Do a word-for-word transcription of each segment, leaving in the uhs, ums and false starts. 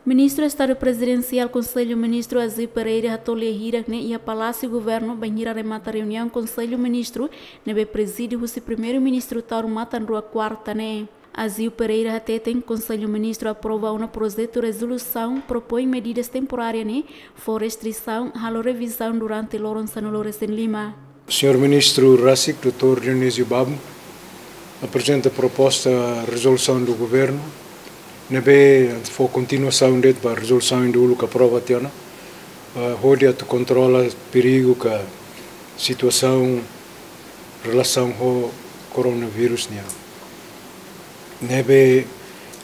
Ministru Estadu Prezidensiál Konsellu Ministru Aziu Pereira hato'o lia hirak ne'e iha Palásiu Governu bainhira remata reuniaun Konsellu Ministru ne'ebé prezide husi Primeiru-Ministru Taur Matan Ruak, kuarta ne'e. Aziu Pereira hateten Konsellu Ministru aprova ona projetu rezolusaun propoin medidas temporárias ne'e fó restrisaun halo revizaun durante loron sanulu-resin-lima. Señór Ministru rasik, doutór Dionísio Babo, aprezenta proposta rezolusaun do governu ne'ebé fó kontinuasaun de'it ba rezolusaun ida uluk aprova tiha ona, ah, hodi atu kontrola perigu ka situasaun relasaun ho koronavírus nian. Ne'ebé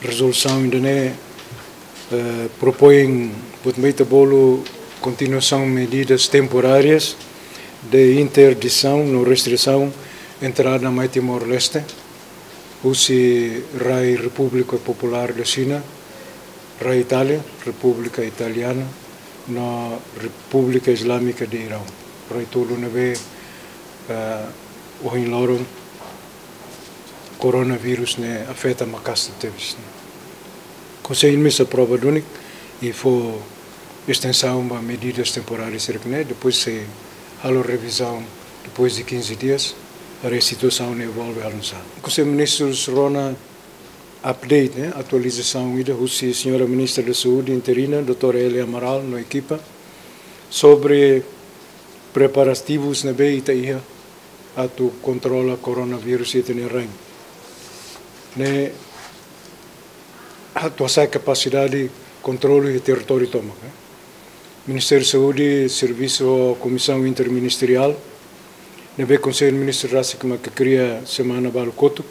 rezolusaun ida-ne'e, eh, propoin buat ne'ebé ita bolu kontinuasaun medidas temporárias de interdisaun no restrisaun entrada mai Timor-Leste, husi rai Repúblika Populár da Xina, rai Itália, Repúblika Italiana, no Repúblika Islámika de Irão. Rai tolu ne'ebé, eh, ohin loron koronavírus ne'e afeta maka'as tebes. Konsellu mós aprova duni i fó estensaun ba medidas temporárias sira-ne'e, depois sei halo revizaun depois de quinze dias, para situasaun ne'e evolve halo nu'usá. Konsellu Ministrus rona update, ne'e, atualizasaun ida husi Señora Ministra da Saúde interina, doutora Elia Amaral, no ekipa, sobre preparativus ne'ebé ita iha atu kontrola koronavírus iha ita-nia rain. Ne'e atu hasa'e kapasidade kontrolu iha territóriu tomak, eh. Ministériu Saúde servisu ho Komisaun Interministeriál ne'ebé Konsellu Ministru rasik mak kria semana balu kotuk.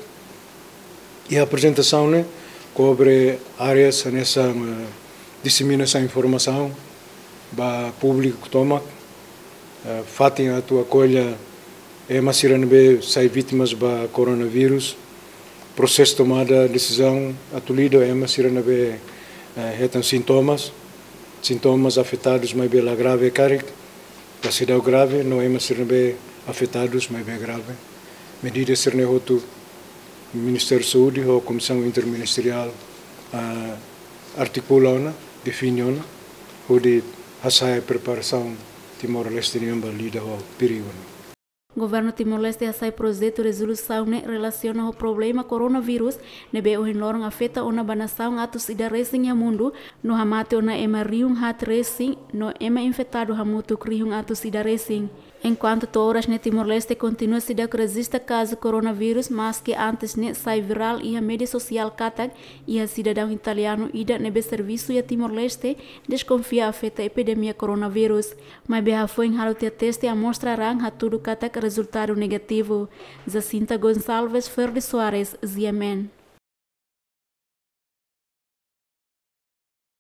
I aprezentasaun ne'e kobre áreas hanesan, eh, diseminasaun informasaun ba públiku tomak, eh, fatin atu akolla ema sira ne'ebé sai vítimas ba koronavírus, prosesu tomada desizaun atu lida ho ema sira ne'ebé, eh, hetan sintomas, sintomas afetadus maibé la grave karik, la seidauk grave, no ema sira ne'ebé afetadus maibé grave. Medida sira-ne'e hotu Ministériu Saúde ho Komisaun Interministeriál, ah, artikula ona, define ona, hodi hasa'e preparasaun Timor-Leste nian ba lida ho perigu ne'e. Governu Timor-Leste hasa'e projetu rezolusaun ne'e relasiona ho problema koronavírus ne'ebé ohin loron afeta ona ba nasaun atus ida resin iha mundu, no hamate ona ema rihun haat resin, no ema infetadu hamutuk rihun atus ida resin. Enkuantu to'o oras ne'e Timor-Leste kontinua seidauk rejista kazu koronavírus, maski antes ne'e sai virál iha média sosiál katak iha sidadaun italianu ida ne'ebé servisu iha Timor-Leste deskonfia afeta epidemia koronavírus. Maibé hafoin halo tiha teste amostra raan hatudu katak rezultadu negativu. Jacinta Gonçalves, Ferdi Soares, G M N.